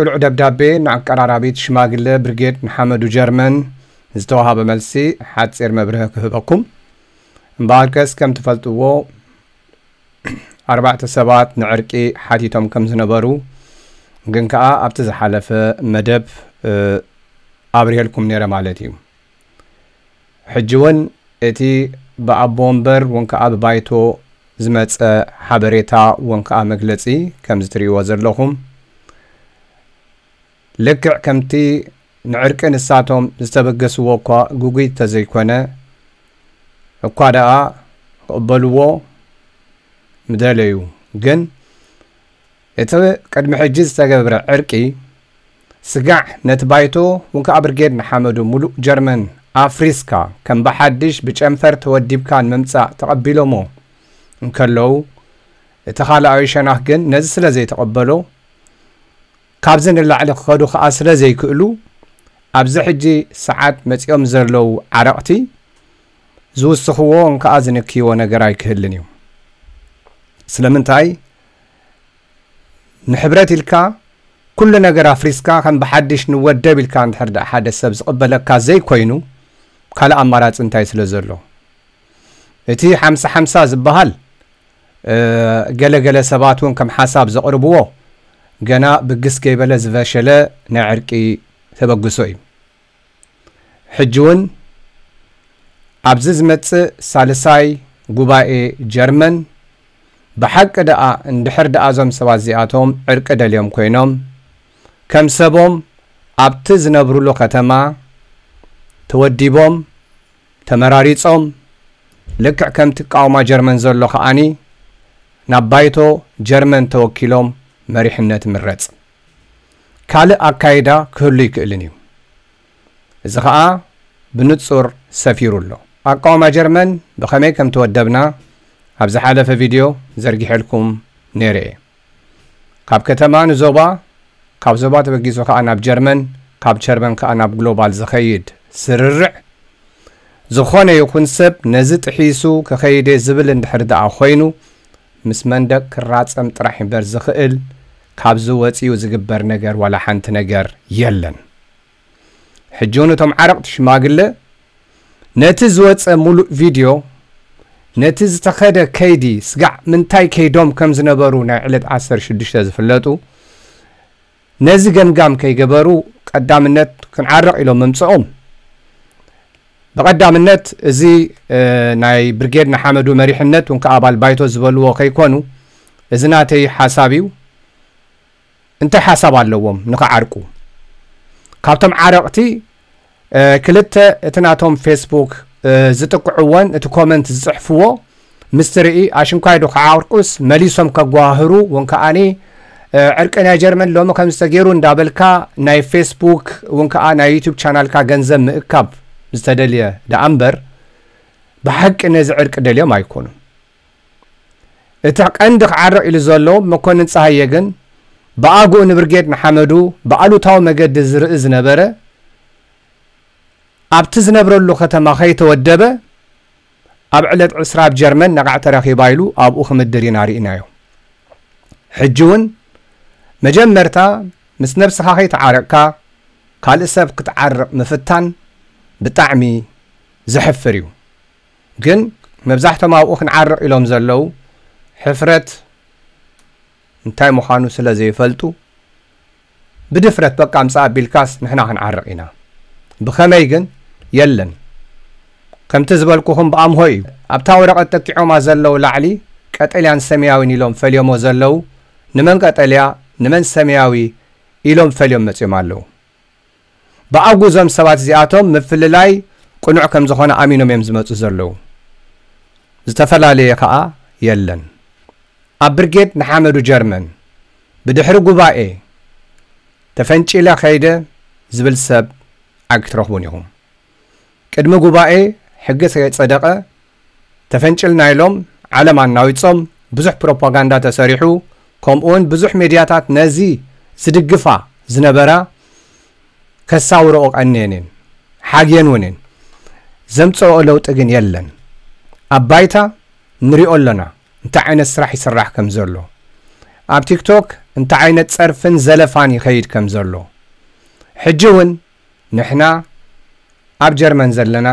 ቅሉዕ ደብዳቤ ንኣቀራራቢት ሽማግለ ብርጌድ ንሓመዱ ጀርመን ዝተዋሃበ መልሲ ሓጺር መብርሂ ክህበኩም። እምበኣርከስ ከም ትፈልጥዎ ኣርባዕተ ሰባት ንዕርቂ ሓቲቶም ከም ዝነበሩ ግን ከኣ ኣብቲ ዝሓለፈ መደብ ኣብርሄልኩም ነይረ ማለት እዩ። ሕጂ እውን እቲ ብኣቦ ወንበር እውን ከኣ ብባይቶ ዝመጸ ሓበሬታ እውን ከኣ መግለጺ ከም ዝትርእይዎ ዘለኹም ልክዕ ከምቲ ንዕርቂ ንሳቶም ዝተበገስዎ እኳ ግጉይ ተዘይኮነ እኳ ደኣ ክቕበልዎ ምደለዩ፣ ግን እቲ ቅድሚ ሕጂ ዝተገብረ ዕርቂ ስጋዕ ነቲ ባይቶ እውን ከኣ ብርጌድ ንሓመዱ ሙሉእ ጀርመን ኣፍሪስካ ከም ብሓድሽ ብጨንፈር ተወዲብካ ንምምጻእ ተቐቢሎሞ እንከለዉ እቲ ካልኣዊ ሸናኽ ግን ነዚ ስለ ዘይተቐበሎ ካብዚ ንላዕሊ ክኸዱ ከኣ ስለ ዘይክእሉ ኣብዚ ሕጂ ሰዓት መጺኦም ዘለዉ ዓረቕቲ ዝውስኽዎ እንከኣ ዝንክይዎ ነገር ኣይክህልን እዩ። ስለምንታይ ንሕብረት ኢልካ ኩሉ ነገር ኣፍሪስካ ከም ብሓድሽ ንወደብ ኢልካ እንድሕር ደኣ ሓደ ሰብ ዝቕበለካ ዘይኮይኑ ካልእ ኣማራጺ እንታይ ስለ ዘሎ እቲ ሓምሳ ሓምሳ ዝበሃል ገለገለ ሰባት እውን ከም ሓሳብ ዘቕርብዎ ገና ብግስ ከይበለ ዝፈሸለ ናይ ዕርቂ ተበግሶ እዩ። ሕጂ እውን ኣብዚ ዝመጽእ ሳልሳይ ጉባኤ ጀርመን ብሓቂ ደኣ እንድሕር ደኣ እዞም ሰባት እዚኣቶም ዕርቂ ደልዮም ኮይኖም ከም ሰቦም ኣብቲ ዝነብሩሉ ከተማ ተወዲቦም ተመራሪጾም ልክዕ ከምቲ ቃውማ ጀርመን ዘሎ ከኣኒ ናብ ባይቶ ጀርመን ተወኪሎም መሪሕነት ምረጽ። ካልእ ኣካይዳ ክህሉ ይክእልን እዩ። እዚ ኸኣ ብንጹር ሰፊሩ ኣሎ። ኣቃውማ ጀርመን ብኸመይ ከም ተወደብና ኣብ ዝሓለፈ ቪድዮ ዘርጊሐልኩም ነይረ እየ። ካብ ከተማ ንዞባ፣ ካብ ዞባ ተበጊሱ ከኣ ናብ ጀርመን፣ ካብ ጀርመን ከኣ ናብ ግሎባል ዝኸይድ ስርርዕ ዝኾነ ይኹን ሰብ ነዚ ጥሒሱ ክኸይድ እየ ዝብል እንድሕር ደኣ ኮይኑ ምስ መንደቅ ክራጸም ጥራሕ እምበር ዝኽእል ካብዚ ወጺኡ ዝግበር ነገር ዋላ ሓንቲ ነገር የለን። ሕጂ እውን እቶም ዓረቕቲ ሽማግለ ነቲ ዝወጸ ሙሉእ ቪድዮ ነቲ ዝተኸደ ከይዲ ስጋዕ ምንታይ ከይዶም ከም ዝነበሩ ናይ ዕለት ዓሰርተ ሽዱሽተ ዝፍለጡ ነዚ ገምጋም ከይገበሩ ቀዳምነት ክንዓርቕ ኢሎም ምምጽኦም ብቐዳምነት እዚ ናይ ብርጌድ ንሓመዱ መሪሕነት እውን ከኣ ኣባል ባይቶ ዝበልዎ ከይኮኑ እዚ ናተይ ሓሳብ እዩ። እንታይ ሓሳብ ኣለዎም ንኽዓርቁ? ካብቶም ዓረቕቲ ክልተ እቲ ናቶም ፌስቡክ ዝጥቅዕዎን እቲ ኮመንት ዝፅሕፍዎ ምስ ትርኢ ኣሽንኳይ ዶ ክዓርቁስ መሊሶም ከጓህሩ እውን ከዓኒ ዕርቂ ናይ ጀርመን ሎሚ ከም ዝተገይሩ እንዳበልካ ናይ ፌስቡክ እውን ከዓ ናይ ዩቱብ ቻናልካ ገንዘብ ምእካብ ዝተደልየ ደኣ እምበር ብሓቂ ነዚ ዕርቂ ደልዮም ኣይኮኑን። እቲ ቀንዲ ክዓርቕ ኢሉ ዘሎ መኮንን ፀሃየ ግን ብኣግኡ ንብርጌድ ንሓመዱ ብኣሉታዊ መገዲ ዝርኢ ዝነበረ ኣብቲ ዝነብረሉ ከተማ ከይተወደበ ኣብ ዕለት ዕስራ ኣብ ጀርመን ነቓዕ ተረኺባ ኢሉ ኣብኡ ክምድር ኢና ርኢናዮ። ሕጂ እውን መጀመርታ ምስ ነብስኻ ከይተዓረቕካ ካልእ ሰብ ክትዓርቕ ምፍታን ብጣዕሚ ዘሕፍር እዩ። ግን መብዛሕቶም ኣብኡ ክንዓርቕ ኢሎም ዘለዉ ሕፍረት እንታይ ምዃኑ ስለ ዘይፈልጡ ብድፍረት በቃ ኣምፅእ ኣቢልካስ ንሕና ክንዓርቕ ኢና። ብኸመይ ግን የለን። ከምቲ ዝበልኩኹም ብኣምሆ እዩ። ኣብታ ወረቐት ጠቂዖማ ዘለዉ ላዕሊ ቀጠልያን ሰማያዊን ኢሎም ፈልዮሞ ዘለዉ ንመን ቀጠልያ ንመን ሰማያዊ ኢሎም ፈልዮም መፅዮም ኣለዉ። ብኣጉ እዞም ሰባት እዚኣቶም ምፍልላይ ቅኑዕ ከም ዝኾነ ኣሚኖም እዮም ዝመፁ ዘለዉ። ዝተፈላለየ ከዓ የለን። ኣብ ብርጌድ ንሓመዱ ጀርመን ብድሕሪ ጉባኤ ተፈንጪለ ከይደ ዝብል ሰብ ኣይክትረኽቡን ኢኹም። ቅድሚ ጉባኤ ሕጊ ከይፀደቐ ተፈንጭልና ኢሎም ዓለም ኣናዊፆም ብዙሕ ፕሮፓጋንዳ ተሰሪሑ ከምኡውን ብዙሕ ሜድያታት ነዚ ዝድግፋ ዝነበራ ከሳውረኦ ቀንየን እየን ሓግየን እውን እየን። ዘምፀኦ ለውጢ ግን የለን። ኣብ ባይታ ንሪኦ ኣለና እንታይ ዓይነት ስራሕ ይስራሕ ከም ዘሎ። ኣብ ቲክቶክ እንታይ ዓይነት ጸርፍን ዘለፋን ይኸይድ ከም ዘሎ። ሕጂ እውን ንሕና ኣብ ጀርመን ዘለና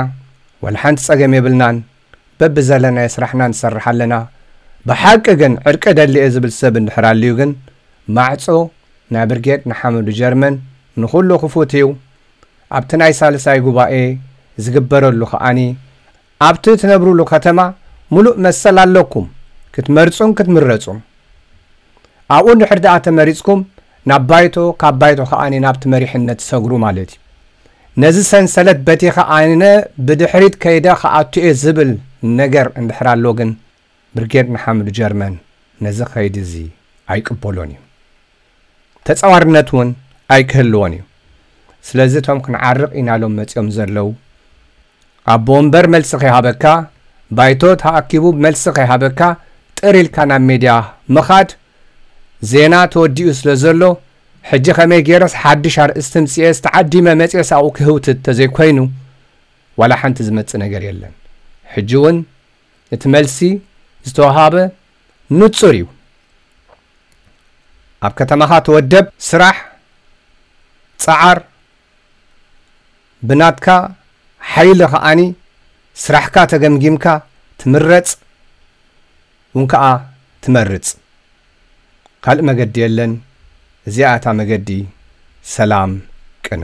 ወላ ሓንቲ ጸገም የብልናን። በብዘለናዮ ስራሕና ንሰርሕ ኣለና። ብሓቂ ግን ዕርቂ ደሊ እየ ዝብል ሰብ እንድሕር ኣልዩ ግን ማዕጾ ናይ ብርጌድ ንሓመዱ ጀርመን ንኹሉ ክፉት እዩ። ኣብቲ ናይ ሳልሳይ ጉባኤ ዝግበረሉ ከኣኒ ኣብቲ ትነብሩሉ ከተማ ሙሉእ መሰል ኣለኩም ክትመርጹን ክትምረጹን። ኣብኡ እንድሕር ደኣ ተመሪጽኩም ናብ ባይቶ፣ ካብ ባይቶ ከኣኒ ናብቲ መሪሕነት ትሰግሩ ማለት እዩ። ነዚ ሰንሰለት በቲኸ ኣነ ብድሕሪት ከይደ ክኣቱ እየ ዝብል ነገር እንድሕር ኣሎ ግን ብርጌድ ንሓመዱ ጀርመን ነዚ ከይዲ እዚ ኣይቅበሎን እዩ። ተጻዋርነት እውን ኣይክህልዎን እዩ። ስለዚ እቶም ክንዓርቕ ኢና ኢሎም መጺኦም ዘለዉ ኣቦ ወንበር መልሲ ከይሃበካ፣ ባይቶ ተኣኪቡ መልሲ ከይሃበካ ጥር ኢልካ ናብ ሜድያ ምኻድ ዜና ተወዲኡ ስለ ዘሎ ሕጂ ከመይ ገይረስ ሓድሽ ኣርእስቲ ምጽኤስ ተዓዲመ መጽኤስ ኣብኡ ክህውትት ተዘይኮይኑ ዋላ ሓንቲ ዝመጽእ ነገር የለን። ሕጂ እውን እቲ መልሲ ዝተወሃበ ንጹር እዩ። ኣብ ከተማኻ ተወደብ፣ ስራሕ፣ ጸዓር፣ ብናትካ ሓይሊ ከኣኒ ስራሕካ ተገምጊምካ ትምረጽ እውን ከኣ ትመርጽ። ካልእ መገዲ የለን። እዚኣ እታ መገዲ ሰላም ቅነ።